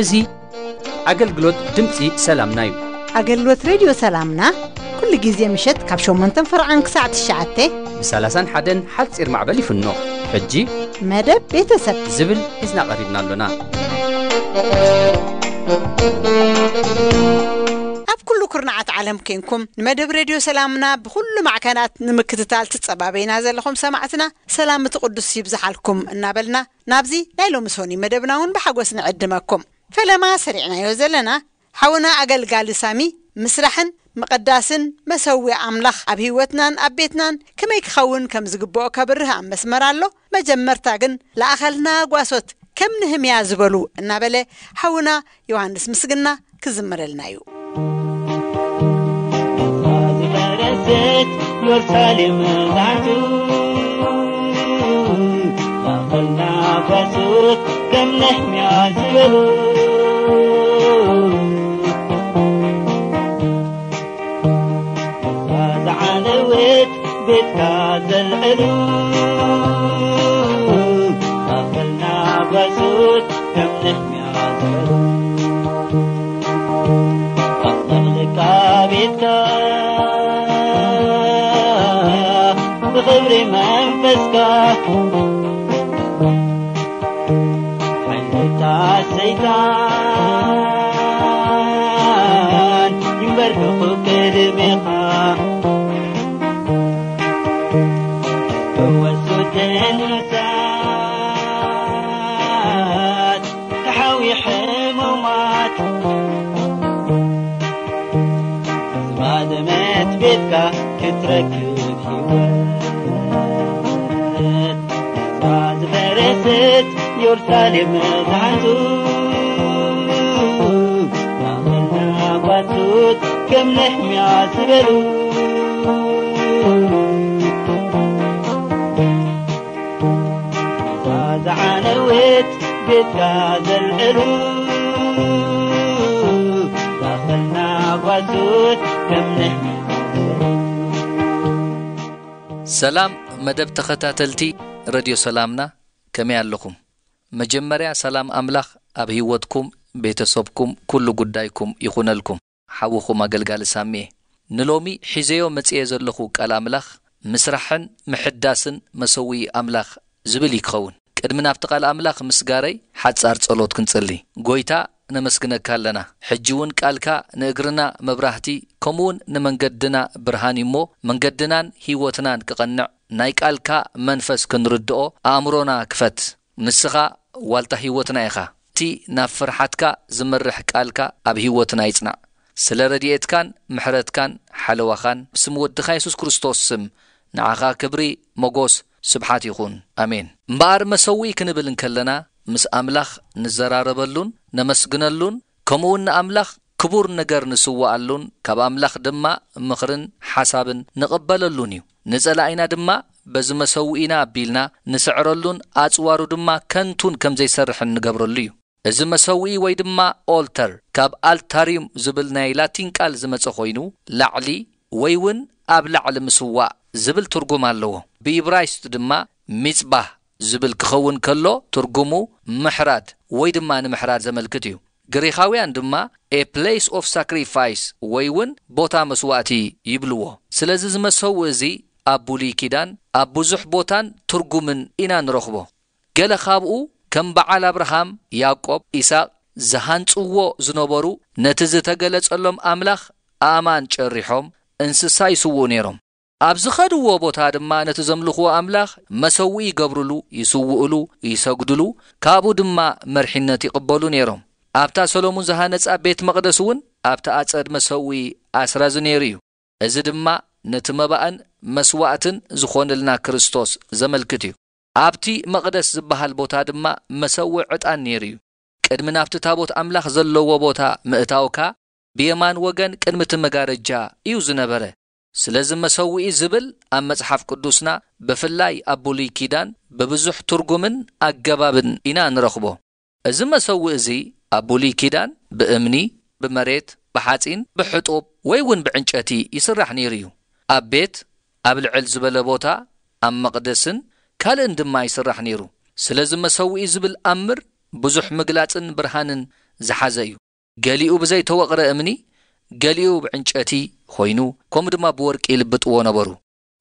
እዚ ኣገልግሎት ድምፂ ሰላምና እዩ። ኣገልግሎት ሬድዮ ሰላምና ኩሉ ግዜ ምሸት ካብ ሸሞንተን ፈርዓን ክሳዕ ትሽዓተ ብ30ን ሓደን ሓፂር ማዕበል ይፍኖ። ሕጂ መደብ ቤተሰብ ዝብል ሒዝና ቀሪብና ኣሎና። ኣብ ኩሉ ኩርናዓት ዓለም ኮንኩም ንመደብ ሬድዮ ሰላምና ብኩሉ ማዕከናት ንምክትታል ትጸባበዩና ዘለኹም ሰማዕትና፣ ሰላም እቲ ቅዱስ ይብዝሓልኩም እናበልና፣ ናብዚ ናይ ሎሚ ሶኒ መደብና እውን ብሓጎስ ንዕድመኩም። ፈለማ ሰሪዕናዮ ዘለና፣ ሓውና ኣገልጋሊ ሳሚ፣ ምስራሕን ምቕዳስን መሰውኢ ኣምላኽ ኣብ ህይወትናን ኣብ ቤትናን ከመይ ክኸውን ከም ዝግብኦ ከብርህ ኣብ መስመር ኣሎ። መጀመርታ ግን፣ ለኣኸልና ጓሶት ከም ንህምያ ዝበሉ እናበለ ሓውና ዮሃንስ ምስግና ክዝምረልና እዩ። ዝፈረሰት ኢየሩሳሌም ዛንቱ፣ ለኣኸልና ጓሶት ከም ነህምያ ዝበሉ። እዛ ዝዓነወት ቤትካ ዘልዕሉ፣ ለኣኸልና ጓሶት ከም ነህምያ ዝበሉ። ኣጽናዕልካ ቤትካ ብኽብሪ መንፈስካ፣ ሓይልታት ሰይጣን ይንበርከኹ ቅድሜኻ። ፈወሱ ደንሳት ተሓዊ ሕሙማት፣ ዝባደመት ቤትካ ክትረክብ ህይወት። እዛ ዝፈረሰት ኢየሩሳሌም ዛንቱ፣ ለኣኸልና ጓሶት ከም ነህምያ ዝበሉ። እዛ ዝዓነወት ቤትካ ዘልዕሉ፣ ለኣኸልና ጓሶት ከም ነህምያ ዝበሉ። ሰላም መደብ ተኸታተልቲ ረድዮ ሰላምና፣ ከመይ ኣለኹም? መጀመርያ ሰላም ኣምላኽ ኣብ ህይወትኩም፣ ቤተሰብኩም፣ ኩሉ ጉዳይኩም ይኹነልኩም። ሓውኹም ኣገልጋሊ ሳሚኤ። ንሎሚ ሒዘዮ መጽየ ዘለኹ ቃል ኣምላኽ፣ ምስራሕን ምሕዳስን መሰውኢ ኣምላኽ ዝብል እዩ ክኸውን። ቅድሚ ናብቲ ቃል ኣምላኽ ምስጋረይ፣ ሓጻር ጸሎት ክንጽሊ። ጎይታ፣ ነመስግነካ ኣለና። ሕጂ እውን ቃልካ ንእግርና መብራህቲ፣ ከምኡውን ንመንገድና ብርሃን እዩ እሞ፣ መንገድናን ህይወትናን ክቐንዕ፣ ናይ ቃልካ መንፈስ ክንርድኦ ኣእምሮና ክፈት። ንስኻ ዋልታ ህይወትና ኢኻ። እቲ ናብ ፍርሓትካ ዝመርሕ ቃልካ ኣብ ህይወትና ይጽናዕ። ስለ ረድኤትካን ምሕረትካን ሓለዋኻን፣ ብስም ወድኻ የሱስ ክርስቶስ ስም፣ ንዓኻ ክብሪ፣ መጎስ፣ ስብሓት ይኹን። ኣሜን። እምበኣር መሰውኢ ክንብል እንከለና፣ ምስ ኣምላኽ ንዘራረበሉን ነመስግነሉን፣ ከምኡውን ንኣምላኽ ክቡር ነገር ንስውኣሉን፣ ካብ ኣምላኽ ድማ ምኽርን ሓሳብን ንቕበለሉን እዩ። ንጸላኢና ድማ በዚ መሰውኢና ኣቢልና ንስዕረሉን ኣጽዋሩ ድማ ከንቱን ከም ዘይሰርሕን ንገብረሉ እዩ። እዚ መሰውኢ ወይ ድማ ኦልተር ካብ ኣልታርዩም ዝብል ናይ ላቲን ቃል ዝመጸ ኮይኑ፣ ላዕሊ ወይ እውን ኣብ ላዕሊ ምስዋእ ዝብል ትርጉም ኣለዎ። ብኢብራይስጥ ድማ ሚጽባህ ዝብል ክኸውን ከሎ፣ ትርጉሙ ምሕራድ ወይ ድማ ንምሕራድ ዘመልክት እዩ። ግሪኻውያን ድማ a place of sacrifice ወይ እውን ቦታ መስዋእቲ ይብልዎ። ስለዚ እዚ መሰውኢ እዚ ኣብ ብሉይ ኪዳን ኣብ ብዙሕ ቦታን ትርጉምን ኢና ንረኽቦ። ገለ ካብኡ ከም በዓል ኣብርሃም፣ ያዕቆብ፣ ኢሳቕ ዝሃንጽዎ ዝነበሩ ነቲ ዝተገለጸሎም ኣምላኽ ኣእማን ጨሪሖም እንስሳ ይስውኡ ነይሮም። ኣብ ዝኸድዎ ቦታ ድማ ነቲ ዘምልኽዎ ኣምላኽ መሰውኢ ይገብርሉ፣ ይስውእሉ፣ ይሰግድሉ፣ ካብኡ ድማ መርሒነት ይቕበሉ ነይሮም። ኣብታ ሰሎሙን ዝሃነጻ ቤት መቕደስ እውን ኣብቲ ኣጸድ መሰውኢ ኣስራዚ ነይሩ እዩ። እዚ ድማ ነቲ መባእን መስዋእትን ዝኾነልና ክርስቶስ ዘመልክት እዩ። ኣብቲ መቕደስ ዝበሃል ቦታ ድማ መሰውእ ዕጣን ነይሩ እዩ። ቅድሚ ናብቲ ታቦት ኣምላኽ ዘለዎ ቦታ ምእታውካ ብየማን ወገን ቅድሚ እቲ መጋረጃ እዩ ዝነበረ። ስለዚ መሰውኢ ዝብል ኣብ መጽሓፍ ቅዱስና ብፍላይ ኣብ ብሉይ ኪዳን ብብዙሕ ትርጉምን ኣገባብን ኢና ንረኽቦ። እዚ መሰውኢ እዚ ኣብ ብሉይ ኪዳን ብእምኒ፣ ብመሬት፣ ብሓጺን፣ ብሕጡብ ወይ እውን ብዕንጨቲ ይስራሕ ነይሩ እዩ። ኣብ ቤት፣ ኣብ ልዕል ዝበለ ቦታ፣ ኣብ መቕደስን ካልእን ድማ ይስራሕ ነይሩ። ስለዚ መሰውኢ ዝብል ኣምር ብዙሕ ምግላጽን ብርሃንን ዝሓዘ እዩ። ገሊኡ ብዘይተወቕረ እምኒ፣ ገሊኡ ብዕንጨቲ ኮይኑ፣ ከምኡ ድማ ብወርቂ ይልብጥዎ ነበሩ።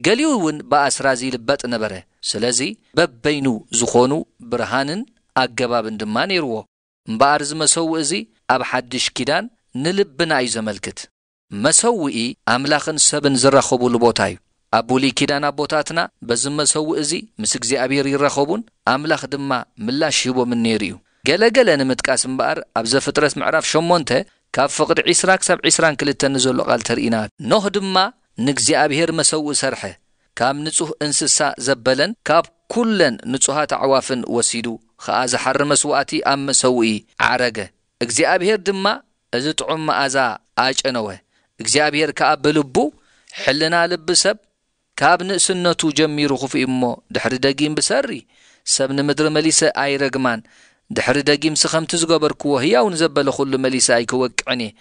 ገሊኡ እውን ብኣስራዚ ይልበጥ ነበረ። ስለዚ በበይኑ ዝኾኑ ብርሃንን ኣገባብን ድማ ነይርዎ። እምበኣር እዚ መሰውኢ እዚ ኣብ ሓድሽ ኪዳን ንልብና እዩ ዘመልክት። መሰውኢ ኣምላኽን ሰብን ዝራኸቡሉ ቦታ እዩ። ኣብ ብሉይ ኪዳን ኣቦታትና በዚ መሰውኢ እዚ ምስ እግዚኣብሔር ይራኸቡን ኣምላኽ ድማ ምላሽ ይህቦምን ነይሩ እዩ። ገለ ገለ ንምጥቃስ እምበኣር ኣብ ዘፍጥረት ምዕራፍ ሸሞንተ ካብ ፍቕዲ ዒስራ ክሳብ ዒስራን ክልተን ንዘሎ ቃል ተርኢና። ኖህ ድማ ንእግዚኣብሔር መሰውኢ ሰርሐ። ካብ ንጹህ እንስሳ ዘበለን ካብ ኩለን ንጹሃት ኣዕዋፍን ወሲዱ ኸኣ ዝሓሪ መስዋእቲ ኣብ መሰውኢ ዓረገ። እግዚኣብሔር ድማ እዚ ጥዑም መኣዛ ኣጨነወ። እግዚኣብሔር ከኣ ብልቡ፣ ሕልና ልቢ ሰብ ካብ ንእስነቱ ጀሚሩ ክፉእ እዩ እሞ፣ ድሕሪ ደጊም ብሰሪ ሰብ ንምድሪ መሊሰ ኣይረግማን። ድሕሪ ደጊምሲ ከምቲ ዝገበርክዎ ህያው ንዘበለ ኹሉ መሊሰ ኣይክወቅዕን እየ።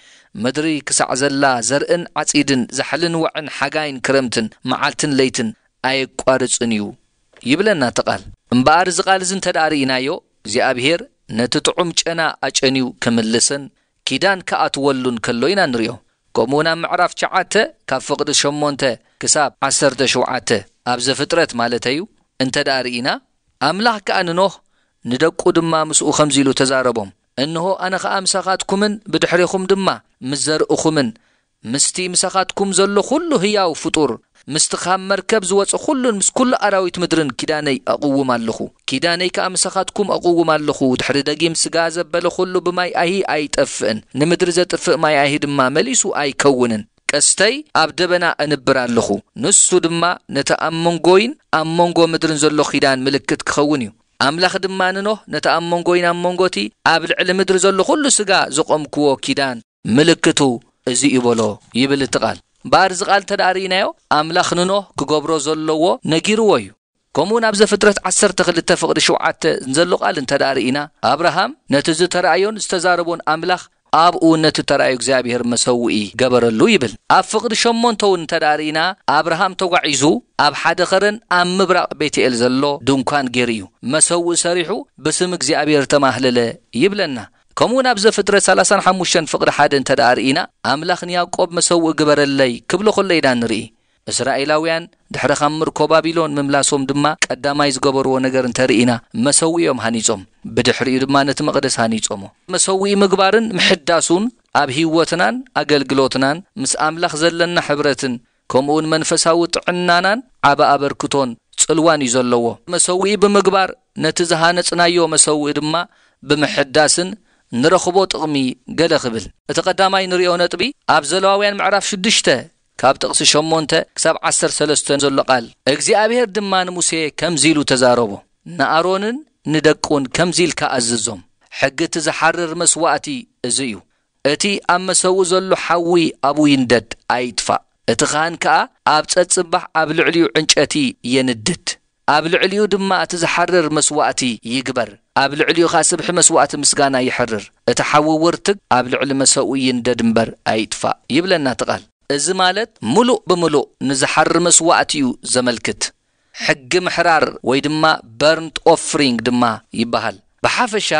ምድሪ ክሳዕ ዘላ ዘርእን ዓጺድን ዛሕልን ዋዕን ሓጋይን ክረምትን መዓልትን ለይትን ኣየቋርጽን እዩ ይብለና እቲ ቃል። እምበኣር እዚ ቃል እዚ እንተ ደኣ ርኢናዮ፣ እግዚኣብሔር ነቲ ጥዑም ጨና ኣጨንዩ ክምልስን ኪዳን ክኣትወሉን ከሎ ኢና ንርእዮ። ከምኡ እውን ኣብ ምዕራፍ ትሽዓተ ካብ ፍቕዲ ሸሞንተ ክሳብ ዓሰርተ ሸውዓተ ኣብ ዘፍጥረት ማለተዩ እንተ ደኣ ርኢና፣ ኣምላኽ ከኣ ንኖህ ንደቁ ድማ ምስኡ ከምዚ ኢሉ ተዛረቦም፣ እንሆ ኣነ ኸኣ ምሳኻትኩምን ብድሕሬኹም ድማ ምስ ዘርእኹምን ምስቲ ምሳኻትኩም ዘሎ ኩሉ ህያው ፍጡር፣ ምስቲ ካብ መርከብ ዝወጸ ኩሉን ምስ ኩሉ ኣራዊት ምድርን ኪዳነይ ኣቕውም ኣለኹ። ኪዳነይ ከኣ ምሳኻትኩም ኣቕውም ኣለኹ። ድሕሪ ደጊም ስጋ ዘበለ ኩሉ ብማይ ኣይሂ ኣይጠፍእን፣ ንምድሪ ዘጥፍእ ማይ ኣይሂ ድማ መሊሱ ኣይከውንን። ቀስተይ ኣብ ደበና ኣንብር ኣለኹ፣ ንሱ ድማ ነቲ ኣብ መንጎይን ኣብ መንጎ ምድርን ዘሎ ኪዳን ምልክት ክኸውን እዩ። ኣምላኽ ድማ ንኖህ፣ ነቲ ኣብ መንጎይን ኣብ መንጎቲ ኣብ ልዕሊ ምድሪ ዘሎ ኩሉ ስጋ ዘቖምክዎ ኪዳን ምልክቱ እዚ እዩ በሎ ይብል እቲ ቃል። እምበኣር እዚ ቃል እንተ ደኣ ርኢናዮ፣ ኣምላኽ ንኖህ ክገብሮ ዘለዎ ነጊርዎ እዩ። ከምኡ እውን ኣብ ዘፍጥረት ዓሰርተ ክልተ ፍቕዲ ሸውዓተ ዘሎ ቃል እንተ ደኣ ርኢና፣ ኣብርሃም ነቲ ዝተራእዮን ዝተዛረቦን ኣምላኽ ኣብኡ ነቲ ተራእዮ እግዚኣብሔር መሰውኢ ገበረሉ ይብል። ኣብ ፍቕዲ ሸሞንተ እውን እንተ ደኣ ርኢና፣ ኣብርሃም ተጓዒዙ ኣብ ሓደ ኸረን ኣብ ምብራቕ ቤትኤል ዘሎ ድንኳን ገይሩ እዩ። መሰውኢ ሰሪሑ ብስም እግዚኣብሔር ተማህለለ ይብለና። ከምኡ እውን ኣብ ዘፍጥረት ሰላሳን ሓሙሽተን ፍቕዲ ሓደ እንተ ደኣ ርኢና፣ ኣምላኽ ንያዕቆብ መሰውኢ ግበረለይ ክብሎ ኸሎ ኢና ንርኢ። እስራኤላውያን ድሕሪ ካብ ምርኮ ባቢሎን ምምላሶም ድማ ቀዳማይ ዝገበርዎ ነገር እንተ ርኢና፣ መሰውኢ እዮም ሃኒጾም። ብድሕሪኡ ድማ ነቲ መቕደስ ሃኒጾሞ። መሰውኢ ምግባርን ምሕዳሱን ኣብ ህይወትናን ኣገልግሎትናን ምስ ኣምላኽ ዘለና ሕብረትን ከምኡውን መንፈሳዊ ጥዕናናን ዓቢ ኣበርክቶን ጽልዋን እዩ ዘለዎ። መሰውኢ ብምግባር ነቲ ዝሃነጽናዮ መሰውኢ ድማ ብምሕዳስን ንረኽቦ ጥቕሚ ገለ ክብል። እቲ ቀዳማይ ንርእዮ ነጥቢ ኣብ ዘለዋውያን ምዕራፍ ሽዱሽተ ካብ ጥቕሲ ሸሞንተ ክሳብ ዓሰርተ ሰለስተ ዘሎ ቃል፣ እግዚኣብሔር ድማ ንሙሴ ከምዚ ኢሉ ተዛረቦ፣ ንኣሮንን ንደቁን ከምዚ ኢልካ ኣዝዞም፣ ሕጊ እቲ ዝሓርር መስዋእቲ እዚ እዩ። እቲ ኣብ መሰውኢ ዘሎ ሓዊ ኣብኡ ይንደድ፣ ኣይጥፋእ። እቲ ኻህን ከኣ ኣብ ጸጽባሕ ኣብ ልዕሊኡ ዕንጨቲ የንድድ። ኣብ ልዕሊኡ ድማ እቲ ዝሓርር መስዋእቲ ይግበር፣ ኣብ ልዕሊኡ ኸኣ ስብሒ መስዋእቲ ምስጋና ይሕርር። እቲ ሓዊ ውርትግ ኣብ ልዕሊ መሰውኢ ይንደድ እምበር ኣይጥፋእ፣ ይብለና እቲ ቃል። እዚ ማለት ምሉእ ብምሉእ ንዝሓሪ መስዋእቲ እዩ ዘመልክት። ሕጊ ምሕራር ወይ ድማ በርንት ኦፍሪንግ ድማ ይበሃል። ብሓፈሻ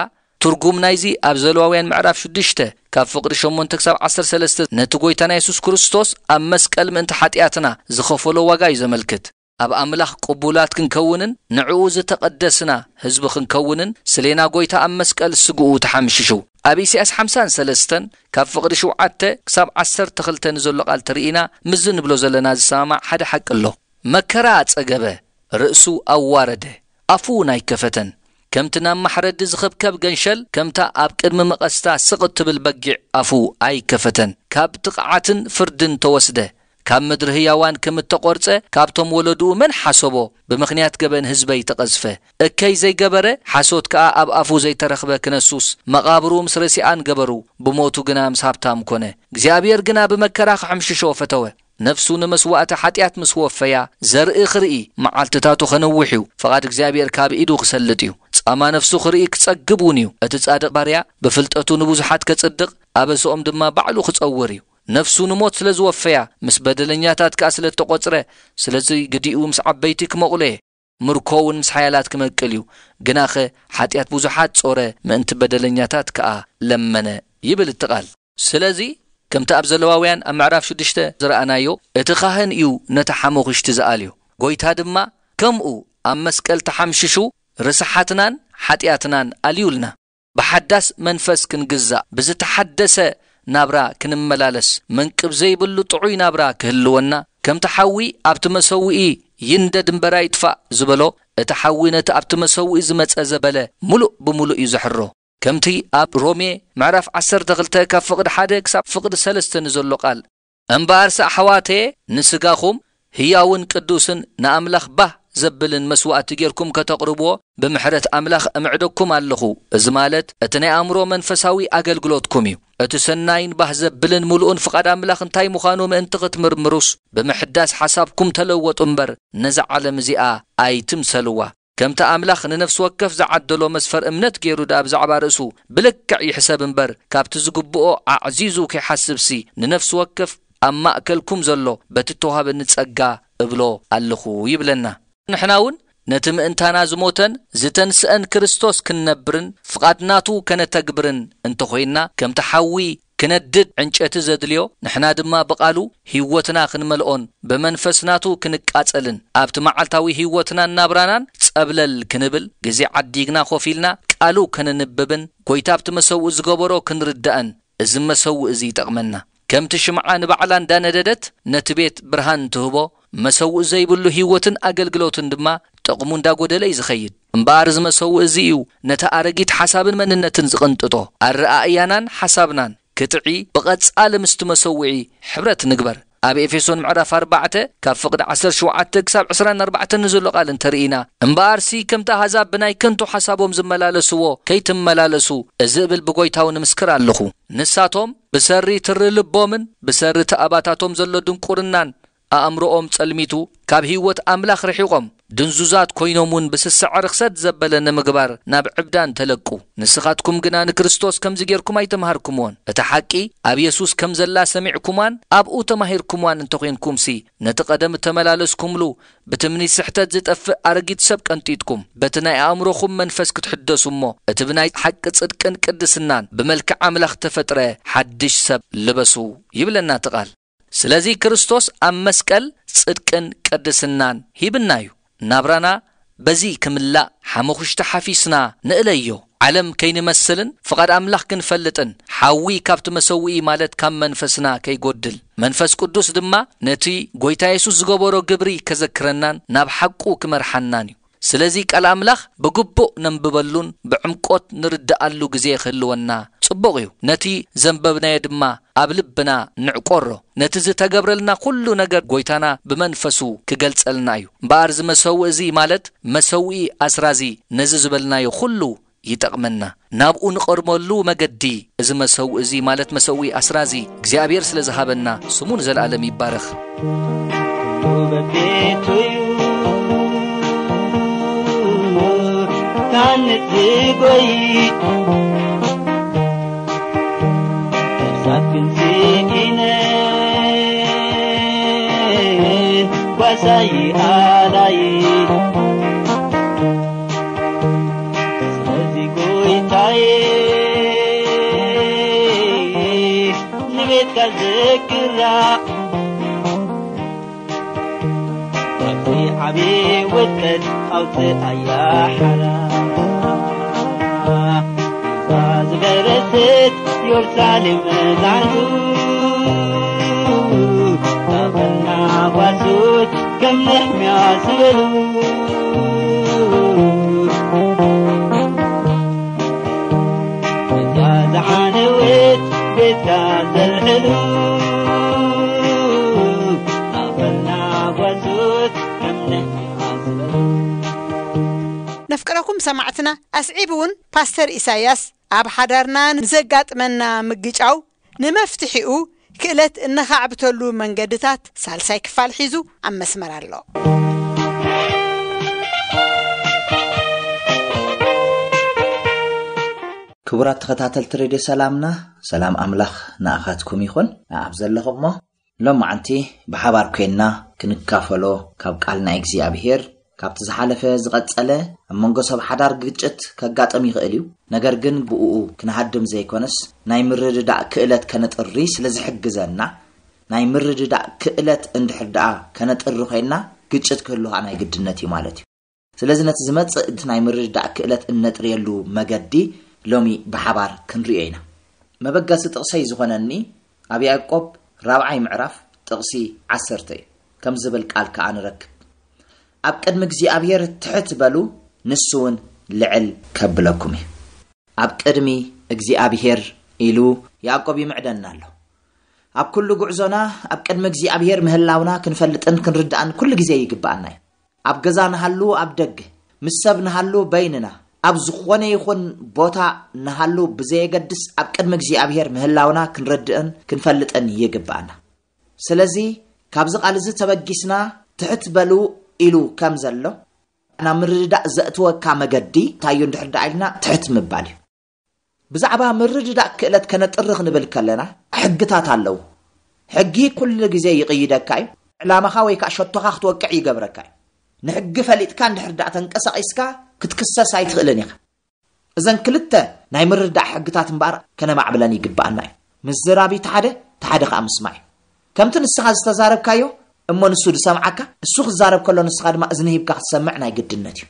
ትርጉም ናይዚ ኣብ ዘለዋውያን ምዕራፍ ሽዱሽተ ካብ ፍቕዲ ሸሞንተ ክሳብ ዓሰርተ ሰለስተ ነቲ ጐይታና የሱስ ክርስቶስ ኣብ መስቀል ምእንቲ ሓጢኣትና ዝኸፈሎ ዋጋ እዩ ዘመልክት። ኣብ ኣምላኽ ቅቡላት ክንከውንን ንዕኡ ዝተቐደስና ህዝቢ ክንከውንን ስሌና ጐይታ ኣብ መስቀል ስግኡ ተሓምሽሹ። ኣብ ኢሳያስ ሓምሳን ሰለስተን ካብ ፍቕዲ ሸውዓተ ክሳብ ዓሰርተ ክልተ ንዘሎ ቃል ተርኢና ምስዚ ንብሎ ዘለና ዝሰማማዕ ሓደ ሓቂ ኣሎ። መከራ ጸገበ፣ ርእሱ ኣዋረደ፣ ኣፉ እውን ኣይከፈተን። ከምቲ ናብ ማሕረዲ ዝኽብከብ ገንሸል፣ ከምታ ኣብ ቅድሚ መቐስታ ስቕ እትብል በጊዕ ኣፉ ኣይከፈተን። ካብ ጥቕዓትን ፍርድን ተወስደ። ካብ ምድሪ ህያዋን ከም እተቖርጸ፣ ካብቶም ወለድኡ መን ሓሰቦ? ብምኽንያት ገበን ህዝበይ ተቐዝፈ። እከይ ዘይገበረ፣ ሓሶት ከኣ ኣብ ኣፉ ዘይተረኽበ ክነሱስ፣ መቓብሩ ምስ ረሲኣን ገበሩ፣ ብሞቱ ግና ምስ ሃብታም ኮነ። እግዚኣብሔር ግና ብመከራ ክሕምሽሾ ፈተወ። ነፍሱ ንመስዋእቲ ሓጢኣት ምስ ወፈያ፣ ዘርኢ ክርኢ መዓልትታቱ ኸነውሕ እዩ። ፍቓድ እግዚኣብሔር ካብ ኢዱ ክሰልጥ እዩ። ጻማ ነፍሱ ክርኢ ክጸግብ እውን እዩ። እቲ ጻድቕ ባርያ ብፍልጠቱ ንብዙሓት ከጽድቕ፣ ኣበስኦም ድማ ባዕሉ ክጸውር እዩ። ነፍሱ ንሞት ስለ ዝወፈያ፣ ምስ በደለኛታት ከኣ ስለ እተቖጽረ፣ ስለዚ ግዲኡ ምስ ዓበይቲ ክመቑሎ እየ። ምርኮ እውን ምስ ሓያላት ክመቅል እዩ። ግናኸ ሓጢኣት ብዙሓት ጾረ፣ ምእንቲ በደለኛታት ከኣ ለመነ ይብል እቲ ቃል። ስለዚ ከምቲ ኣብ ዘለዋውያን ኣብ ምዕራፍ ሽዱሽተ ዝረኣናዮ፣ እቲ ካህን እዩ ነቲ ሓሞኽሽቲ ዝኣልዮ። ጎይታ ድማ ከምኡ ኣብ መስቀል ተሓምሽሹ ርስሓትናን ሓጢኣትናን ኣልዩልና። ብሓዳስ መንፈስ ክንግዛእ፣ ብዝተሓደሰ ናብራ ክንመላለስ፣ መንቅብ ዘይብሉ ጥዑይ ናብራ ክህልወና፣ ከምቲ ሓዊ ኣብቲ መሰውኢ ይንደድ እምበር ኣይጥፋእ ዝበሎ፣ እቲ ሓዊ ነቲ ኣብቲ መሰውኢ ዝመጸ ዘበለ ምሉእ ብምሉእ እዩ ዘሕሮ። ከምቲ ኣብ ሮሜ ምዕራፍ ዓሰርተ ክልተ ካብ ፍቕዲ ሓደ ክሳብ ፍቕዲ ሰለስተ ንዘሎ ቃል፣ እምበኣርስ ኣሕዋተየ፣ ንስጋኹም ህያውን ቅዱስን ንኣምላኽ ባህ ዘብልን መስዋእቲ ጌርኩም ከተቕርብዎ ብምሕረት ኣምላኽ እምዕደኩም ኣለኹ። እዚ ማለት እቲ ናይ ኣእምሮ መንፈሳዊ ኣገልግሎትኩም እዩ። እቲ ሰናይን ባህ ዘብልን ምሉእን ፍቓድ ኣምላኽ እንታይ ምዃኑ ምእንቲ ክትምርምሩስ፣ ብምሕዳስ ሓሳብኩም ተለወጡ እምበር፣ ነዛ ዓለም እዚኣ ኣይትምሰልዋ። ከምቲ ኣምላኽ ንነፍሲ ወከፍ ዝዓደሎ መስፈር እምነት ገይሩ ደኣ ብዛዕባ ርእሱ ብልክዕ ይሕሰብ እምበር፣ ካብቲ ዝግብኦ ኣዕዚዙ ከይሓስብሲ፣ ንነፍሲ ወከፍ ኣብ ማእከልኩም ዘሎ በቲ እተዋህበኒ ጸጋ እብሎ ኣለኹ ይብለና። ንሕና እውን ነቲ ምእንታና ዝሞተን ዝተንስአን ክርስቶስ ክንነብርን ፍቓድ ናቱ ከነተግብርን እንተኾይንና፣ ከምቲ ሓዊ ክነድድ ዕንጨቲ ዘድልዮ፣ ንሕና ድማ ብቓሉ ህይወትና ክንመልኦን ብመንፈስ ናቱ ክንቃጸልን፣ ኣብቲ መዓልታዊ ህይወትናን ናብራናን ጸብለል ክንብል፣ ግዜ ዓዲግና ኮፍ ኢልና ቃሉ ከነንብብን፣ ጎይታ ኣብቲ መሰውኢ ዝገበሮ ክንርዳእን፣ እዚ መሰውኢ እዚ ይጠቕመና። ከምቲ ሽምዓ ንባዕላ እንዳነደደት ነቲ ቤት ብርሃን ትህቦ፣ መሰውኢ ዘይብሉ ህይወትን ኣገልግሎትን ድማ ጥቕሙ እንዳጎደለ እዩ ዝኸይድ። እምበኣር እዚ መሰውኢ እዚ እዩ ነቲ ኣረጊት ሓሳብን መንነትን ዝቕንጥጦ። ኣረኣእያናን ሓሳብናን ክጥዒ ብቐጻሊ ምስቲ መሰውዒ ሕብረት ንግበር። ኣብ ኤፌሶን ምዕራፍ ኣርባዕተ ካብ ፍቕዲ ዓሰርተ ሸውዓተ ክሳብ ዕስራን ኣርባዕተን ንዘሎ ቃል እንተርኢና፣ እምበኣርሲ ከምቲ ኣህዛብ ብናይ ከንቱ ሓሳቦም ዝመላለስዎ ከይትመላለሱ፣ እዚ እብል ብጎይታዊ ንምስክር ኣለኹ። ንሳቶም ብሰሪ ትሪ ልቦምን ብሰሪ እቲ ኣባታቶም ዘሎ ድንቁርናን ኣእምሮኦም ጸልሚቱ፣ ካብ ህይወት ኣምላኽ ርሒቖም፣ ድንዙዛት ኮይኖም እውን ብስስዐ ርኽሰት ዘበለ ንምግባር ናብ ዕብዳን ተለቁ። ንስኻትኩም ግና ንክርስቶስ ከምዚ ጌርኩም ኣይተምሃርኩምዎን። እታ ሓቂ ኣብ የሱስ ከም ዘላ ሰሚዕኩማን ኣብኡ ተማሂርኩምዋን እንተኾይንኩምሲ፣ ነቲ ቀደም እተመላለስኩምሉ ብትምኒት ስሕተት ዝጠፍእ ኣረጊት ሰብ ቀንጢጥኩም፣ በቲ ናይ ኣእምሮኹም መንፈስ ክትሕደሱ እሞ፣ እቲ ብናይ ሓቂ ጽድቅን ቅድስናን ብመልክዕ ኣምላኽ ተፈጥረ ሓድሽ ሰብ ልበሱ ይብለና እቲ ቃል። ስለዚ ክርስቶስ ኣብ መስቀል ጽድቅን ቅድስናን ሂብና እዩ። ናብራና በዚ ክምላእ ሓመኹሽቲ ሓፊስና ንእለዮ። ዓለም ከይንመስልን ፍቓድ ኣምላኽ ክንፈልጥን፣ ሓዊ ካብቲ መሰውኢ ማለት ካብ መንፈስና ከይጎድል፣ መንፈስ ቅዱስ ድማ ነቲ ጎይታ የሱስ ዝገበሮ ግብሪ ከዘክረናን ናብ ሓቁ ክመርሓናን እዩ። ስለዚ ቃል ኣምላኽ ብግቡእ ነንብበሉን ብዕምቆት ንርድኣሉ ግዜ ክህልወና ጽቡቕ እዩ። ነቲ ዘንበብናዮ ድማ ኣብ ልብና ንዕቆሮ። ነቲ ዝተገብረልና ኩሉ ነገር ጎይታና ብመንፈሱ ክገልጸልና እዩ። እምበኣር እዚ መሰውኢ እዚ ማለት መሰውኢ ኣስራዚ ነዚ ዝበልናዮ ኩሉ ይጠቕመና። ናብኡ ንቐርበሉ መገዲ እዚ መሰውኢ እዚ ማለት መሰውኢ ኣስራዚ እግዚኣብሔር ስለ ዝሃበና ስሙ ንዘለኣለም ይባረኽ። ኩሉ በቤቱ እዩ ታንጽ ዝጎይ፣ ነፍሳት ግን ስኢነ ጓሳይ ኣላይ። ስለዚ ጎይታዬ ንቤትካ ዝግራ ካብቲ ዓቢ ውጥረት ኣውፅኣያ ሓራ። እዛ ዝፈረሰት ኢየሩሳሌም መዛንቱ ናበና ጓሶት ከም ነሕምያ ዝበሉ እዛ ዝዓነወት ቤትካ ዘልዕሉ ናበና ጓሶት ከም ነሕምያ ዝበሉ። ነፍቅረኩም ሰማዕትና፣ ኣስዒቡ እውን ፓስተር ኢሳያስ ኣብ ሓዳርና ንዘጋጥመና ምግጫው ንመፍትሒኡ ክእለት እነኻዕብተሉ መንገድታት ሳልሳይ ክፋል ሒዙ ኣብ መስመር ኣሎ። ክቡራት ተኸታተልቲ ሬድዮ ሰላምና፣ ሰላም ኣምላኽ ንኣኻትኩም ይኹን። ኣብ ዘለኹሞ ሎማዓንቲ ብሓባር ኮይንና ክንካፈሎ ካብ ቃል ናይ እግዚኣብሔር፣ ካብቲ ዝሓለፈ ዝቐጸለ፣ ኣብ መንጎ ሰብ ሓዳር ግጭት ከጋጥም ይኽእል እዩ። ነገር ግን ብእኡ ክንሃድም ዘይኮነስ፣ ናይ ምርድዳእ ክእለት ከነጥሪ ስለ ዝሕግዘና፣ ናይ ምርድዳእ ክእለት እንድሕር ደኣ ከነጥሪ ኮይንና፣ ግጭት ክህሉ ኸኣ ናይ ግድነት እዩ ማለት እዩ። ስለዚ ነቲ ዝመጽእ እቲ ናይ ምርድዳእ ክእለት እነጥርየሉ መገዲ ሎሚ ብሓባር ክንርእዮ ኢና። መበገሲ ጥቕሰይ ዝኾነኒ ኣብ ያዕቆብ ራብዓይ ምዕራፍ ጥቕሲ ዓሰርተ እዩ። ከም ዝብል ቃል ከኣ ንረክብ። ኣብ ቅድሚ እግዚኣብሔር ትሕት በሉ፣ ንሱ እውን ልዕል ከብለኩም እዩ። ኣብ ቅድሚ እግዚኣብሔር ኢሉ ያዕቆብ ይምዕደና ኣሎ። ኣብ ኩሉ ጉዕዞና ኣብ ቅድሚ እግዚኣብሔር ምህላውና ክንፈልጥን ክንርዳእን ኩሉ ግዜ ይግብኣና እዩ። ኣብ ገዛ ንሃሉ ኣብ ደገ፣ ምስ ሰብ ንሃሉ በይንና፣ ኣብ ዝኾነ ይኹን ቦታ ንሃሉ ብዘየገድስ ኣብ ቅድሚ እግዚኣብሔር ምህላውና ክንረድእን ክንፈልጥን ይግብኣና። ስለዚ ካብዚ ቃል እዚ ተበጊስና ትሕት በሉ ኢሉ ከም ዘሎ ናብ ምርድዳእ ዘእትወካ መገዲ እንታይ እዩ እንድሕር ደኣ ኢልና ትሕት ምባል እዩ። ብዛዕባ ምርድዳእ ክእለት ከነጥሪ ክንብል ከለና ሕግታት ኣለዉ። ሕጊ ኩሉ ግዜ ይቕይደካ እዩ። ዕላማኻ ወይ ከዓ ሸቶኻ ክትወቅዕ ይገብረካ እዩ። ንሕጊ ፈሊጥካ እንድሕር ደኣ ተንቀሳቒስካ ክትክሰስ ኣይትኽእልን ኢኻ። እዘን ክልተ ናይ ምርዳእ ሕግታት እምበኣር ከነማዕብለን ይግብኣና እዩ። ምዝራብ እዩ ሓደ፣ እቲ ሓደ ከዓ ምስማዕ እዩ። ከምቲ ንስኻ ዝተዛረብካዮ እሞ ንሱ ዝሰምዓካ፣ እሱ ክዛረብ ከሎ ንስኻ ድማ እዝኒ ሂብካ ክትሰምዕ ናይ ግድነት እዩ።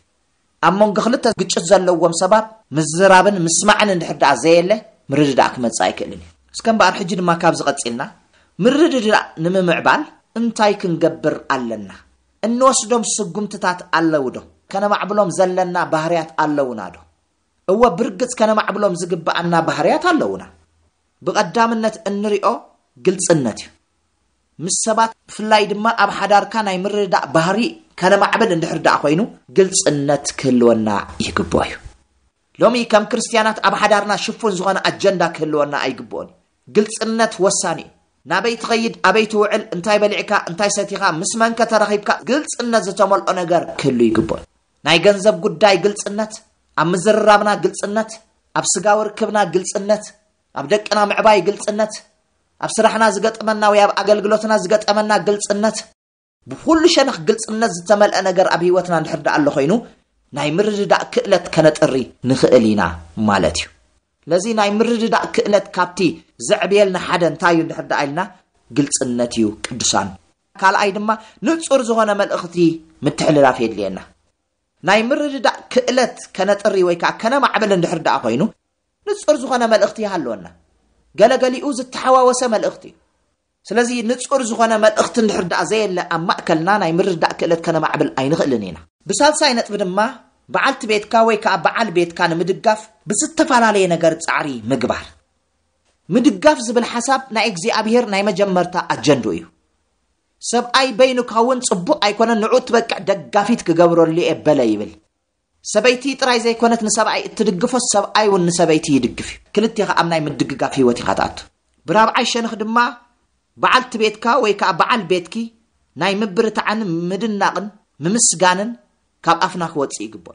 ኣብ መንጎ ክልተ ግጭት ዘለዎም ሰባት ምዝራብን ምስማዕን እንድሕር ደኣ ዘየለ ምርድዳእ ክመጽእ ኣይክእልን እዩ። እስከ እምበኣር ሕጂ ድማ ካብዚ ቀጺልና ምርድዳእ ንምምዕባል እንታይ ክንገብር ኣለና? እንወስዶም ስጉምትታት ኣለዉ ዶ? ከነማዕብሎም ዘለና ባህርያት ኣለዉና ዶ? እወ፣ ብርግጽ ከነማዕብሎም ዝግብኣና ባህርያት ኣለዉና። ብቐዳምነት እንሪኦ ግልጽነት እዩ። ምስ ሰባት ብፍላይ ድማ ኣብ ሓዳርካ ናይ ምርድዳእ ባህሪ ከነማዕብል እንድሕር ደኣ ኮይኑ ግልጽነት ክህልወና ይግብኦ እዩ። ሎሚ ከም ክርስትያናት ኣብ ሓዳርና ሽፉን ዝኾነ ኣጀንዳ ክህልወና ኣይግብኦን እዩ። ግልጽነት ወሳኒ እዩ። ናበይ ትኸይድ፣ ኣበይ ትውዕል፣ እንታይ በሊዕካ፣ እንታይ ሰቲኻ፣ ምስ መንከ ተረኺብካ፣ ግልጽነት ዝተመልኦ ነገር ክህሉ ይግብኦ እዩ። ናይ ገንዘብ ጉዳይ ግልጽነት፣ ኣብ ምዝርራብና ግልጽነት፣ ኣብ ስጋዊ ርክብና ግልጽነት፣ ኣብ ደቅና ምዕባይ ግልጽነት፣ ኣብ ስራሕና ዝገጥመና ወይ ኣብ ኣገልግሎትና ዝገጠመና ግልጽነት፣ ብኹሉ ሸነኽ ግልጽነት ዝተመልአ ነገር ኣብ ህይወትና እንድሕር ደኣ ኣሎ ኮይኑ ናይ ምርድዳእ ክእለት ከነጥሪ ንኽእል ኢና ማለት እዩ። ስለዚ ናይ ምርድዳእ ክእለት ካብቲ ዘዕብየልና ሓደ እንታይ እዩ እንድሕር ደኣ ኢልና ግልጽነት እዩ ቅዱሳን። ካልኣይ ድማ ንጹር ዝኾነ መልእኽቲ ምትሕልላፍ የድልየና። ናይ ምርድዳእ ክእለት ከነጥሪ ወይ ከዓ ከነማዕብል እንድሕር ደኣ ኮይኑ ንጹር ዝኾነ መልእኽቲ ይሃለወና። ገለገሊኡ ዝተሓዋወሰ መልእኽቲ እዩ። ስለዚ ንጹር ዝኾነ መልእኽቲ እንድሕር ደኣ ዘየለ ኣብ ማእከልና ናይ ምርዳእ ክእለት ከነማዕብል ኣይንኽእልን ኢና። ብሳልሳይ ነጥቢ ድማ በዓልቲ ቤትካ ወይ ከዓ በዓል ቤትካ ንምድጋፍ ብዝተፈላለየ ነገር ጻዕሪ ምግባር። ምድጋፍ ዝብል ሓሳብ ናይ እግዚኣብሔር ናይ መጀመርታ ኣጀንድኡ እዩ። ሰብኣይ በይኑ ክኸውን ጽቡቕ ኣይኮነን፣ ንዑ ትበቅዕ ደጋፊት ክገብረሉ እየ በለ ይብል። ሰበይቲ ጥራይ ዘይኮነት ንሰብኣይ እትድግፎስ ሰብኣይ እውን ንሰበይቲ ይድግፍ እዩ። ክልቴኻ ኣብ ናይ ምድግጋፍ ህይወት ኢኻ ትኣቱ። ብራብዓይ ሸነኽ ድማ በዓልቲ ቤትካ ወይ ከዓ በዓል ቤትኪ ናይ ምብርታዕን ምድናቕን ምምስጋንን ካብ ኣፍና ክወፅእ ይግብኦ።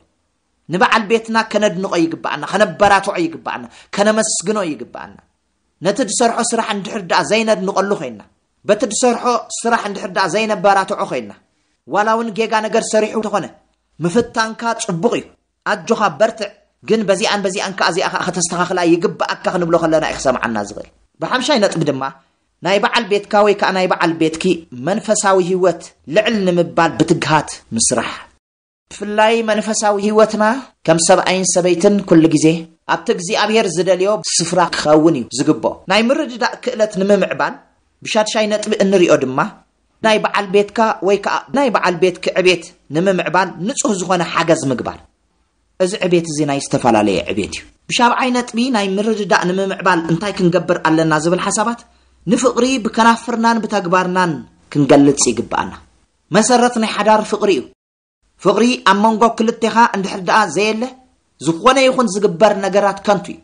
ንበዓል ቤትና ከነድንቖ ይግብኣና፣ ከነበራትዖ ይግብኣና፣ ከነመስግኖ ይግብኣና። ነቲ ዝሰርሖ ስራሕ እንድሕር ደኣ ዘይነድንቐሉ ኮይንና፣ በቲ ዝሰርሖ ስራሕ እንድሕር ደኣ ዘይነበራትዖ ኮይንና፣ ዋላ እውን ጌጋ ነገር ሰሪሑ እንተኾነ ምፍታንካ ጽቡቕ እዩ። ኣጆኻ በርትዕ፣ ግን በዚኣን በዚኣን ከኣ እዚኣ ከኣ ከተስተኻኽላ ይግብኣካ ክንብሎ ከለና እዩ ክሰምዓና ዝኽእል። ብሓምሻይ ነጥቢ ድማ ናይ በዓል ቤትካ ወይ ከኣ ናይ በዓል ቤትኪ መንፈሳዊ ህይወት ልዕል ንምባል ብትግሃት ምስራሕ። ብፍላይ መንፈሳዊ ህይወትና ከም ሰብኣይን ሰበይትን ኩሉ ግዜ ኣብቲ እግዚኣብሔር ዝደልዮ ስፍራ ክኸውን እዩ ዝግብኦ። ናይ ምርድዳእ ክእለት ንምምዕባል ብሻድሻይ ነጥቢ እንሪኦ ድማ ናይ በዓል ቤትካ ወይ ከኣ ናይ በዓል ቤትኪ ዕቤት ንምምዕባል ንጹህ ዝኾነ ሓገዝ ምግባር። እዚ ዕቤት እዚ ናይ ዝተፈላለየ ዕቤት እዩ። ብሻብዓይ ነጥቢ ናይ ምርድዳእ ንምምዕባል እንታይ ክንገብር ኣለና ዝብል ሓሳባት ንፍቕሪ ብከናፍርናን ብተግባርናን ክንገልጽ ይግብኣና። መሰረት ናይ ሓዳር ፍቕሪ እዩ። ፍቕሪ ኣብ መንጎ ክልቴኻ እንድሕር ደኣ ዘየለ፣ ዝኾነ ይኹን ዝግበር ነገራት ከንቱ እዩ።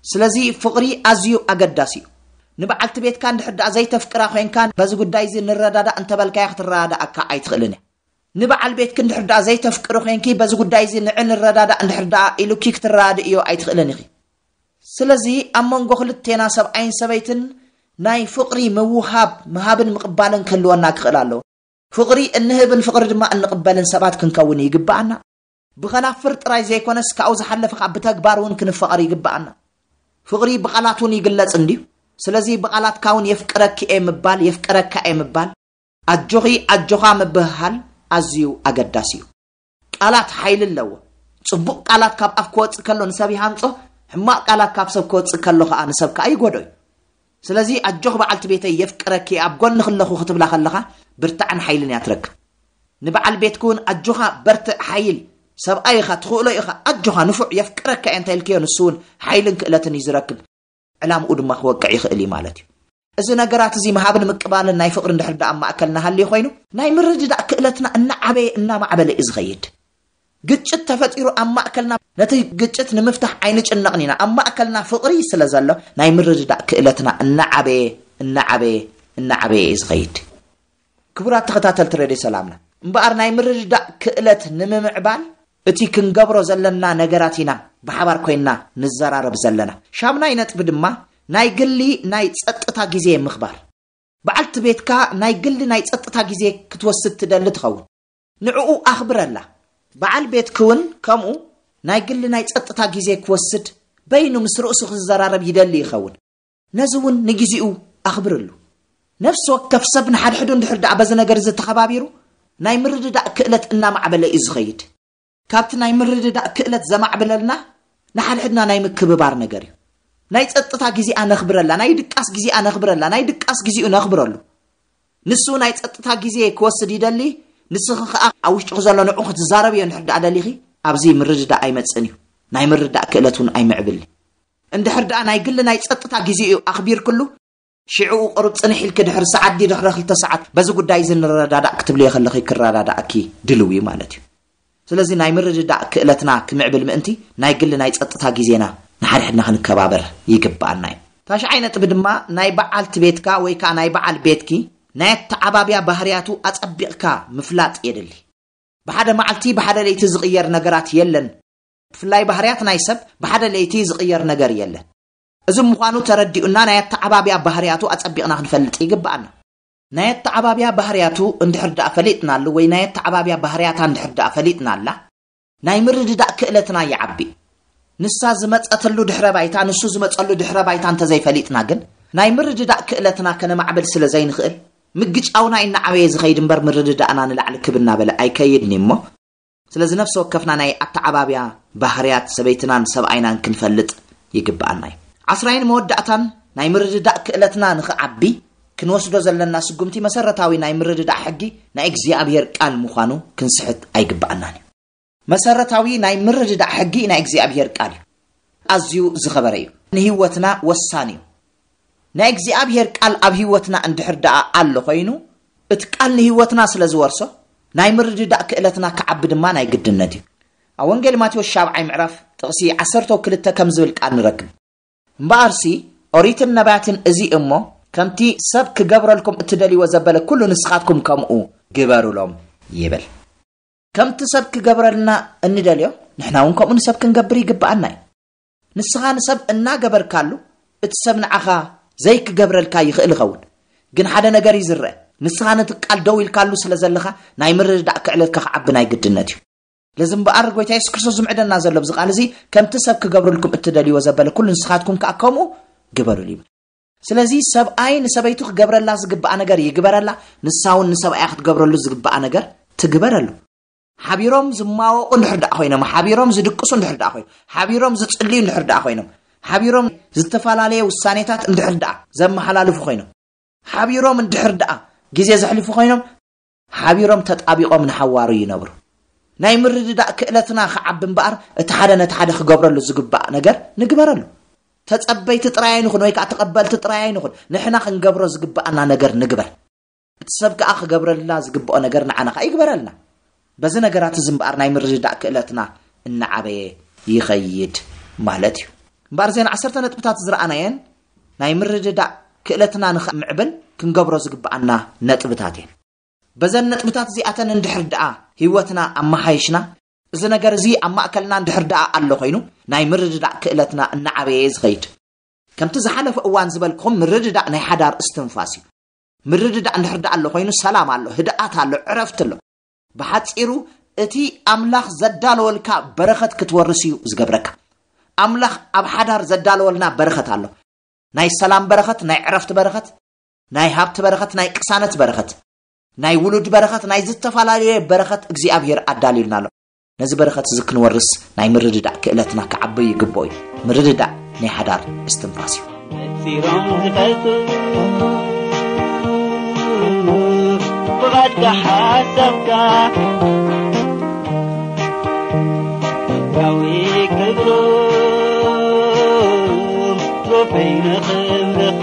ስለዚ ፍቕሪ ኣዝዩ ኣገዳሲ እዩ። ንበዓልቲ ቤትካ እንድሕር ደኣ ዘይተፍቅራ ኮይንካ፣ በዚ ጉዳይ እዚ ንረዳዳእ እንተበልካያ ክትረዳዳኣካ ኣይትኽእልን እያ። ንበዓል ቤትኪ እንድሕር ደኣ ዘይተፍቅሪ ኮይንኪ፣ በዚ ጉዳይ እዚ ንዕ ንረዳዳእ እንድሕር ደኣ ኢሉኪ ክትረዳድእዮ ኣይትኽእልን ኢኺ። ስለዚ ኣብ መንጎ ክልቴና ሰብኣይን ሰበይትን ናይ ፍቕሪ ምውሃብ፣ ምሃብን ምቕባልን ክህልወና ክኽእል ኣለዎ። ፍቕሪ እንህብን ፍቕሪ ድማ እንቕበልን ሰባት ክንከውን ይግብኣና። ብኸናፍር ጥራይ ዘይኮነስ ካብኡ ዝሓለፈ ከዓ ብተግባር እውን ክንፈቐር ይግብኣና። ፍቕሪ ብቓላት እውን ይግለጽ እንድዩ። ስለዚ ብቓላትካ እውን የፍቅረኪ እየ ምባል፣ የፍቅረካ እየ ምባል፣ ኣጆኺ ኣጆኻ ምብህሃል ኣዝዩ ኣገዳሲ እዩ። ቃላት ሓይሊ ኣለዎ። ጽቡቕ ቃላት ካብ ኣፍ ክወጽእ ከሎ ንሰብ ይሃንጾ፣ ሕማቕ ቃላት ካብ ሰብ ክወጽእ ከሎ ከዓ ንሰብ ከዓ ይጎዶ እዩ። ስለዚ ኣጆኽ በዓልቲ ቤተይ የፍቅረኪ እየ ኣብ ጎንኺ ኣለኹ ክትብላ ከለኻ ብርታዕን ሓይልን እያ ትረክብ። ንበዓል ቤትኪ እውን ኣጆኻ በርትዕ ሓይል ሰብኣይ ኢኻ ትኽእሎ ኢኻ ኣጆኻ ንፉዕ የፍቅረካ እየ እንተ ኢልክዮ ንሱ እውን ሓይልን ክእለትን እዩ ዝረክብ። ዕላምኡ ድማ ክወቅዕ ይኽእል እዩ ማለት እዩ። እዚ ነገራት እዚ ምሃብን ምቅባልን ናይ ፍቕሪ እንድሕር ደኣ ኣብ ማእከልና ሃልዩ ኮይኑ ናይ ምርድዳእ ክእለትና እናዓበየ እናማዕበለ እዩ ዝኸይድ። ግጭት ተፈጢሩ ኣብ ማእከልና ነቲ ግጭት ንምፍታሕ ኣይንጭነቕን ኢና። ኣብ ማእከልና ፍቕሪ ስለ ዘሎ ናይ ምርድዳእ ክእለትና እናዓበየ እናዓበየ እናዓበየ እዩ ዝኸይድ። ክቡራት ተኸታተልቲ ሬድዮ ሰላምና እምበኣር ናይ ምርድዳእ ክእለት ንምምዕባል እቲ ክንገብሮ ዘለና ነገራት ኢና ብሓባር ኮይንና ንዘራረብ ዘለና። ሻምናይ ነጥቢ ድማ ናይ ግሊ ናይ ጸጥታ ግዜ ምኽባር። በዓልቲ ቤትካ ናይ ግሊ ናይ ጸጥታ ግዜ ክትወስድ ትደሊ ትኸውን። ንዕኡ ኣኽብረላ። በዓል ቤትኪ እውን ከምኡ ናይ ግሊ ናይ ጸጥታ ግዜ ክወስድ በይኑ ምስ ርእሱ ክዘራረብ ይደሊ ይኸውን። ነዚ እውን ንግዜኡ ኣኽብርሉ። ነፍሲ ወከፍ ሰብ ንሓድሕዱ እንድሕር ደኣ በዚ ነገር እዚ ተኸባቢሩ ናይ ምርድዳእ ክእለት እናማዕበለ እዩ ዝኸይድ። ካብቲ ናይ ምርድዳእ ክእለት ዘማዕብለልና ንሓድሕድና ናይ ምክብባር ነገር እዩ። ናይ ጸጥታ ግዜኣ ነኽብረላ፣ ናይ ድቃስ ግዜኣ ነኽብረላ፣ ናይ ድቃስ ግዜኡ ነኽብረሉ። ንሱ ናይ ጸጥታ ግዜ ክወስድ ይደሊ፣ ንስኺ ከኣ ኣብ ውሽጥኺ ዘሎ ንዑ ክትዛረብዮ እንድሕር ደኣ ደሊኺ ኣብዚ ምርድዳእ ኣይመጽእን እዩ። ናይ ምርዳእ ክእለት እውን ኣይምዕብልን። እንድሕር ደኣ ናይ ግሊ ናይ ጸጥታ ግዜኡ ኣኽቢርክሉ ሽዕኡ ቁሩብ ጽንሕ ኢልኪ ድሕሪ ሰዓት ድዩ ድሕሪ ክልተ ሰዓት በዚ ጉዳይ እዚ ንረዳዳእ ክትብልዮ ከለኺ ክረዳዳእኪ ድልው እዩ ማለት እዩ። ስለዚ ናይ ምርድዳእ ክእለትና ክምዕብል ምእንቲ ናይ ግሊ ናይ ጸጥታ ግዜና ንሓድሕድና ክንከባበር ይግብኣና እዩ። ታሽዓይ ነጥቢ ድማ ናይ በዓልቲ ቤትካ ወይ ከኣ ናይ በዓል ቤትኪ ናይ ኣተዓባብያ ባህርያቱ ኣጸቢቕካ ምፍላጥ የድሊ። ብሓደ መዓልቲ ብሓደ ለይቲ ዝቕየር ነገራት የለን። ብፍላይ ባህርያት ናይ ሰብ ብሓደ ለይቲ ዝቕየር ነገር የለን። እዚ ምዃኑ ተረዲኡና ናይ ኣተዓባብያ ባህርያቱ ኣጸቢቕና ክንፈልጥ ይግብኣና። ናይ ኣተዓባብያ ባህርያቱ እንድሕር ደኣ ፈሊጥናሉ ወይ ናይ ኣተዓባብያ ባህርያታ እንድሕር ደኣ ፈሊጥናላ ናይ ምርድዳእ ክእለትና ይዓቢ። ንሳ ዝመጸትሉ ድሕረ ባይታ ንሱ ዝመጸሉ ድሕረ ባይታ እንተዘይፈሊጥና ግን ናይ ምርድዳእ ክእለትና ከነማዕብል ስለ ዘይንኽእል ምግጫውና እናዓበየ ዝኸይድ እምበር ምርድዳእና ንላዕሊ ክብ እናበለ ኣይከይድን እዩ እሞ ስለዚ ነፍሲ ወከፍና ናይ ኣተዓባብያ ባህርያት ሰበይትናን ሰብኣይናን ክንፈልጥ ይግብኣና እዩ። ዓስራይን መወዳእታን ናይ ምርድዳእ ክእለትና ንኽዓቢ ክንወስዶ ዘለና ስጉምቲ መሰረታዊ ናይ ምርድዳእ ሕጊ ናይ እግዚኣብሔር ቃል ምዃኑ ክንስሕት ኣይግብኣናን እዩ። መሰረታዊ ናይ ምርድዳእ ሕጊ ናይ እግዚኣብሔር ቃል እዩ። ኣዝዩ ዝኸበረ እዩ። ንህይወትና ወሳኒ እዩ። ናይ እግዚኣብሔር ቃል ኣብ ህይወትና እንድሕር ደኣ ኣሎ ኮይኑ እቲ ቃል ንህይወትና ስለ ዝወርሶ ናይ ምርድዳእ ክእለትና ክዓቢ ድማ ናይ ግድነት እዩ። ኣብ ወንጌል ማቴዎስ ሻብዓይ ምዕራፍ ጥቕሲ ዓሰርተ ክልተ ከም ዝብል ቃል ንረክብ። እምበኣርሲ ኦሪትን ነባያትን እዚ እሞ ከምቲ ሰብ ክገብረልኩም እትደልይዎ ዘበለ ኩሉ ንስኻትኩም ከምኡ ግበሩሎም ይብል። ከምቲ ሰብ ክገብረልና እንደልዮ ንሕና እውን ከምኡ ንሰብ ክንገብር ይግብኣና እዩ። ንስኻ ንሰብ እናገበርካሉ እቲ ሰብ ንዓኻ ዘይክገብረልካ ይኽእል ይኸውን። ግን ሓደ ነገር እዩ ዝረአ። ንስኻ ነቲ ቃል ደው ኢልካሉ ስለ ዘለኻ ናይ ምርድዳእ ክዕለትካ ክዓቢ ናይ ግድነት እዩ። ለዚ እምበኣር ጎይታ የሱስ ክርስቶስ ዝምዕደና ዘሎ ብዚ ቃል እዚ ከምቲ ሰብ ክገብረልኩም እትደልይዎ ዘበለ ኩሉ ንስኻትኩም ከኣ ከምኡ ግበሩሉ ይብል። ስለዚ ሰብኣይ ንሰበይቱ ክገብረላ ዝግባኣ ነገር ይግበረላ፣ ንሳ እውን ንሰብኣያ ክትገብረሉ ዝግባኣ ነገር ትግበረሉ። ሓቢሮም ዝማወቑ እንድሕር ደኣ ኮይኖም፣ ሓቢሮም ዝድቅሱ እንድሕር ደኣ ኮይኖም፣ ሓቢሮም ዝጽልዩ እንድሕር ደኣ ኮይኖም፣ ሓቢሮም ዝተፈላለየ ውሳኔታት እንድሕር ደኣ ዘመሓላልፉ ኮይኖም፣ ሓቢሮም እንድሕር ደኣ ግዜ ዘሕልፉ ኮይኖም፣ ሓቢሮም ተጣቢቖም ንሓዋሩ ይነብሩ። ናይ ምርድዳእ ክእለትና ክዓቢ እምበኣር እቲ ሓደ ነቲ ሓደ ክገብረሉ ዝግባእ ነገር ንግበረሉ። ተጸበይቲ ጥራይ ኣይንኹን ወይ ከዓ ተቐበልቲ ጥራይ ኣይንኹን። ንሕና ክንገብሮ ዝግባኣና ነገር ንግበር። እቲ ሰብ ከዓ ክገብረላ ዝግብኦ ነገር ንዓና ከዓ ይግበረልና። በዚ ነገራት እዚ እምበኣር ናይ ምርድዳእ ክእለትና እናዓበየ ይኸይድ ማለት እዩ። እምበኣር እዘን ዓሰርተ ነጥብታት ዝረኣናየን ናይ ምርድዳእ ክእለትና ንኽምዕብል ክንገብሮ ዝግብኣና ነጥብታት እየን። በዘን ነጥብታት እዚኣተን እንድሕር ደኣ ህይወትና ኣመሓይሽና፣ እዚ ነገር እዚ ኣብ ማእከልና እንድሕር ደኣ ኣሎ ኮይኑ፣ ናይ ምርድዳእ ክእለትና እናዓበየ እዩ ዝኸይድ። ከምቲ ዝሓለፈ እዋን ዝበልኩኹም፣ ምርድዳእ ናይ ሓዳር እስትንፋስ እዩ። ምርድዳእ እንድሕር ደኣ ኣሎ ኮይኑ፣ ሰላም ኣሎ፣ ህድኣት ኣሎ፣ ዕረፍቲ ኣሎ። ብሓጺሩ፣ እቲ ኣምላኽ ዘዳለወልካ በረኸት ክትወርስ እዩ ዝገብረካ። ኣምላኽ ኣብ ሓዳር ዘዳለወልና በረኸት ኣሎ። ናይ ሰላም በረኸት፣ ናይ ዕረፍቲ በረኸት፣ ናይ ሃብቲ በረኸት፣ ናይ ቅሳነት በረኸት፣ ናይ ውሉድ በረኸት፣ ናይ ዝተፈላለየ በረኸት እግዚኣብሔር ኣዳልዩልና ኣሎ። ነዚ በረኸት እዚ ክንወርስ ናይ ምርድዳእ ክእለትና ክዓቢ ይግብኦ እዩ። ምርድዳእ ናይ ሓዳር እስትንፋስ እዩ። ነጺሮም ዝፈልጡ ብቓልካ ሓሳብካ፣ ዳዊ ክብሮም ሮፈይ ንኽብርኻ።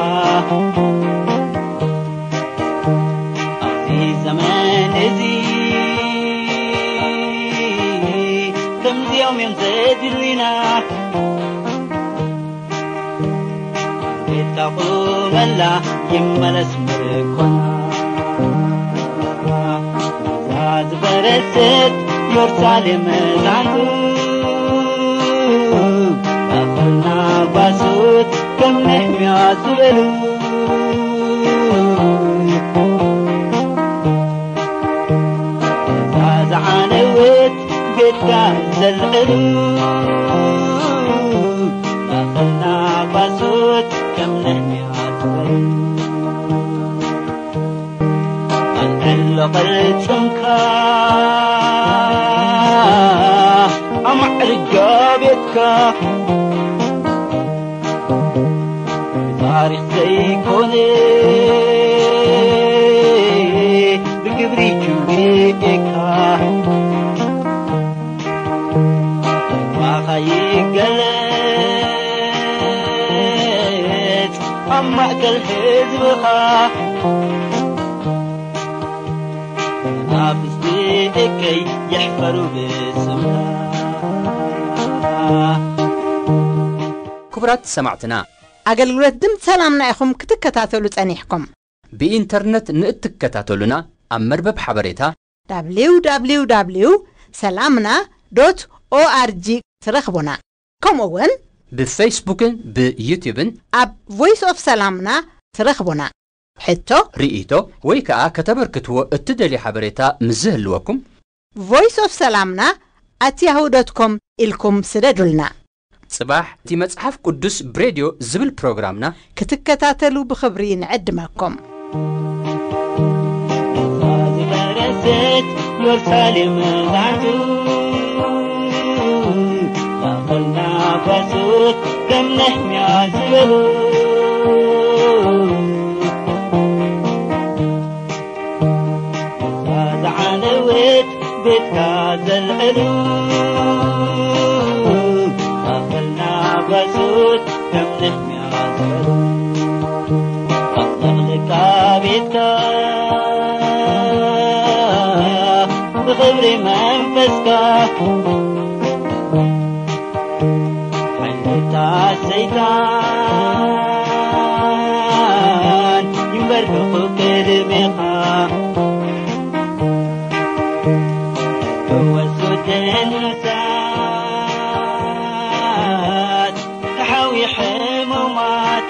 ኣብዚ ዘመን እዚ ከምዚኦም እዮም ዘድልዩና። ቤትካ ቁመላ ይመለስ ምርኮና። እዛ ዝፈረሰት ኢየሩሳሌም መዛንቱ፣ ማእከልና ጓሶት ከም ነህምያ ዝበሉ። እዛ ዝዓነወት ቤትካ ዘልዕሉ፣ ማእከልና ጓሶት ከም ነህምያ ዝበሉ። ኣልዕሎ ቅርጽንካ፣ ኣማዕርጋ ቤትካ፣ ታሪኽ ዘይኮነ ብግብሪ ክብሪካ። ማኻ ይገለጽ ኣብ ማእከል ህዝብኻ። መናፍስቲ ደቀይ ይሕፈሩ ብስምካ። ክቡራት ሰማዕትና፣ ኣገልግሎት ድምፂ ሰላምና ኢኹም ክትከታተሉ ጸኒሕኩም። ብኢንተርነት ንእትከታተሉና ኣብ መርበብ ሓበሬታ www ሰላምና ዶት ኦኣርጂ ትረኽቡና። ከምኡ እውን ብፌስቡክን ብዩቲዩብን ኣብ ቮይስ ኦፍ ሰላምና ትረኽቡና። ሕቶ፣ ርእይቶ ወይ ከዓ ከተበርክትዎ እትደልዩ ሓበሬታ ምስ ዝህልወኩም፣ ቮይስ ኦፍ ሰላምና ኣት ያሁ ዶት ኮም ኢልኩም ስደዱልና። ጽባሕ እቲ መጽሓፍ ቅዱስ ብሬድዮ ዝብል ፕሮግራምና ክትከታተሉ ብኽብሪ ንዕድመኩም። ዝፈረሰት ኢየሩሳሌም መዛቱ፣ ማእከልና ጓሶት ከም ነህምያ ዝበሉ። እዛ ዝዓነወት ቤትካ ዘልዕሉ፣ ማእከልና ጓሶት ከም ነህምያ ዝበሉ። ኣጥለቕልቃ ቤትካ ብኽብሪ መንፈስካ፣ ሓይልታት ሰይጣን ይንበርከኹ ቅድሜኻ። ፈወሱ ደንሳት ተሓዊ ሕሙማት፣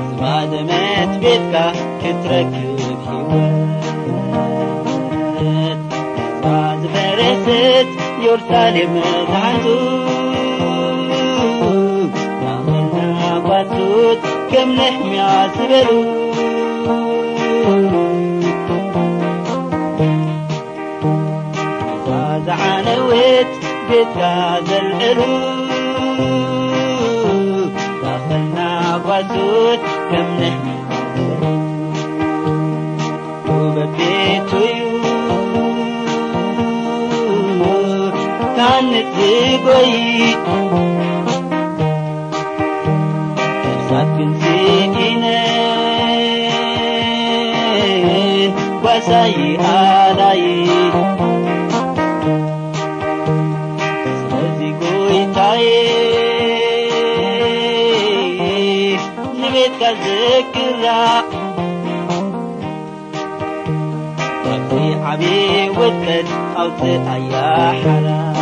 ዝባደመት ቤትካ ክትረክብ ህይወት። እዛ ዝፈረሰት ኢየሩሳሌም መዛንቱ፣ ናመና ጓሶት ከም ነህምያ ዝበሉ። እዛ ዝዓነወት ቤትካ ዘልዕሉ፣ ማእከልና ጓሶት ከም ነህምያ ዝበሉ። ውበት ቤቱ እዩ ታንጽ ዝጎይ፣ ነፍሳት ግን ስኢነን ጓሳይ ኣላይ። ስለዚ ጎይታዬ ከዝክራ ካብቲ ዓቢ ውጥቀት ኣውፅኣያ ሓራ።